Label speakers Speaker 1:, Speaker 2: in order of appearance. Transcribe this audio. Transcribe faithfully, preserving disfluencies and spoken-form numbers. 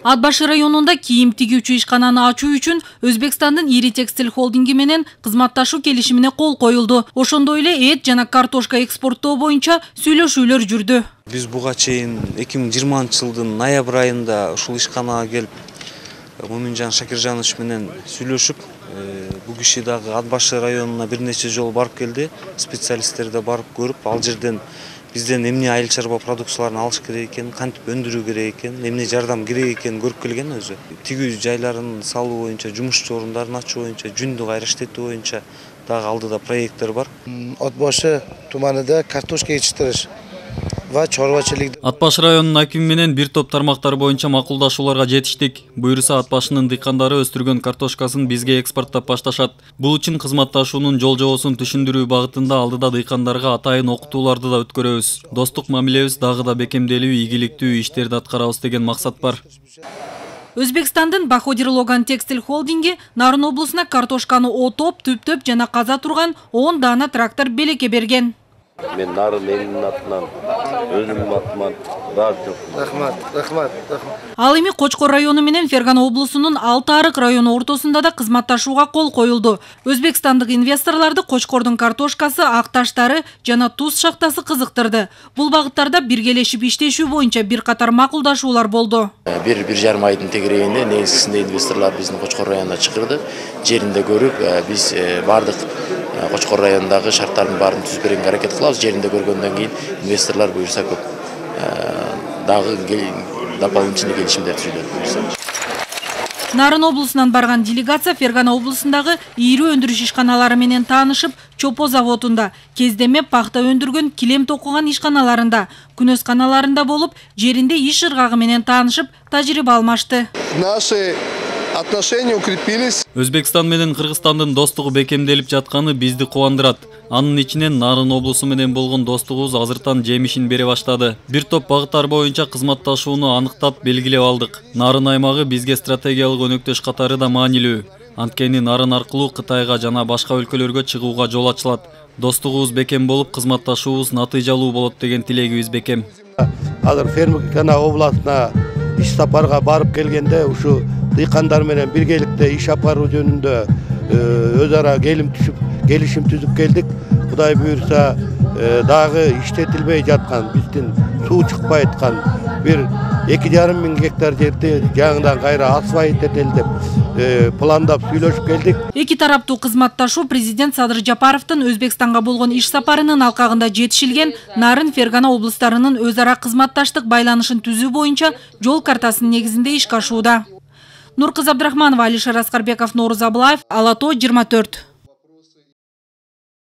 Speaker 1: Ат башы районунда кийим тигүүчү ишкананы ачуу үчүн Өзбекстандын ири текстиль холдинги менен кызматташуу келишимине кол коюлду. Ошондой эле эт жана картошка экспорттоо боюнча сүйлөшүүлөр жүрдү.
Speaker 2: Биз буга чейин эки миң жыйырманчы жылдын ноябрь айында ушул ишканага келип Моминжан Шакиржанович менен сүйлөшүп, бул киши дагы Ат башы районуна бир нече жолу барып келди. Специалисттер да барып көрүп, ал жерден бизден эмне айыл чарба продукцияларын алыш керек экен, кантип өндүрүү керек экен, эмне жардам керек экенин көрүп келген өзү. Тигүү жайларын салуу боюнча, жумушчу орундарын ачуу боюнча, жүндү кайра иштетүү боюнча дагы алдыда проекттер бар.
Speaker 3: Ат башы туманында картошка жетиштириш ва чорбачылык.
Speaker 4: Ат башы районунун акими менен бир топ тармактар боюнча макулдашууларга жетиштик. Буюрса Ат башынын дыйкандары өстүргөн картошкасын бизге экспорттоп башташат. Бул үчүн кызматташуунун жол жобосун түшүндүрүү багытында алдыда дыйкандарга атайын окутууларды да өткөрөбүз. Достук мамилебиз дагы да бекемделүү, ийгиликтүү иштерди аткарабыз деген максат бар.
Speaker 1: Өзбекстандын Баходир Логан текстиль холдинги Нарын облусуна картошканы отоп, түптөп жана каза турган он даана трактор белекке берген.
Speaker 5: Мен Нарын элинин атынан, өзүмдүн атыман ыраазычылык.
Speaker 3: Рахмат, рахмат, рахмат.
Speaker 1: Ал эми Кочкор району менен Фергана облусунун Алты Арык району ортосунда да кызматташууга кол коюлду. Өзбекстандык инвесторлорду Кочкордун картошкасы, ак таштары жана туз шахтасы кызыктырды. Бул багыттарда биргелешип иштешүү боюнча бир катар макулдашуулар болду.
Speaker 6: Бир бир жарым айдын тегерегинде негизгисинде инвесторлор биздин Кочкор районуна чакырды. Жеринде көрүп, биз бардык Кочкор районундагы шарттардын баарын түзүп берүүгө аракет кылабыз. Жеринде көргөндөн кийин инвесторлор буюрса көп дагы дополнительный келишимдер түзүлөт.
Speaker 1: Нарын облусунан барган делегация Фергана облусундагы ийри өндүрүш ишканалары менен таанышып, Чопо заводунда, кездеме пахта өндүргөн, килем токуган ишканаларында, күнөс каналарында болуп, жеринде иш ыргагы менен таанышып, тажрыйба алмашты.
Speaker 3: Наши отношения укрепились.
Speaker 4: Өзбекстан менен Кыргызстандын достугу бекемделип жатканы бизди кубандырат. Анын ичинен Нарын облусу менен болгон достугубуз азыртан жемишин бере баштады. Бир топ багыттар боюнча кызматташууну аныктап белгилеп алдык. Нарын аймагы бизге стратегиялык өнөктөш катары да маанилүү. Анткени Нарын аркылуу Кытайга жана башка өлкөлөргө чыгууга жол ачылат. Достугубуз бекем болуп, кызматташуубуз натыйжалуу болот деген тилегибиз бекем.
Speaker 7: Азыр Фергана областына иш сапарга барып келгенде ушу дыйкандар менен биргеликте иш апаруу жөнүндө өз ара келим түшүп, келишим түзүп келдик. Кудай буюрса дагы иштетилбей жаткан, биздин суу чыкпай аткан бир эки жарым миң гектар жерди жаңыдан кайра асфальт этели деп пландап сүйлөшүп келдик.
Speaker 1: Эки тараптуу кызматташуу президент Садыр Жапаровдун Өзбекстанга болгон иш сапарынын алкагында жетишилген Нарын, Фергана облустарынын өз ара кызматташтык байланышын түзүү боюнча жол картасынын негизинде ишке ашууда. Нуркыз Абдрахманова, Алишер Аскарбеков, Нооруз Абылаев, Ала тоо жыйырма төрт.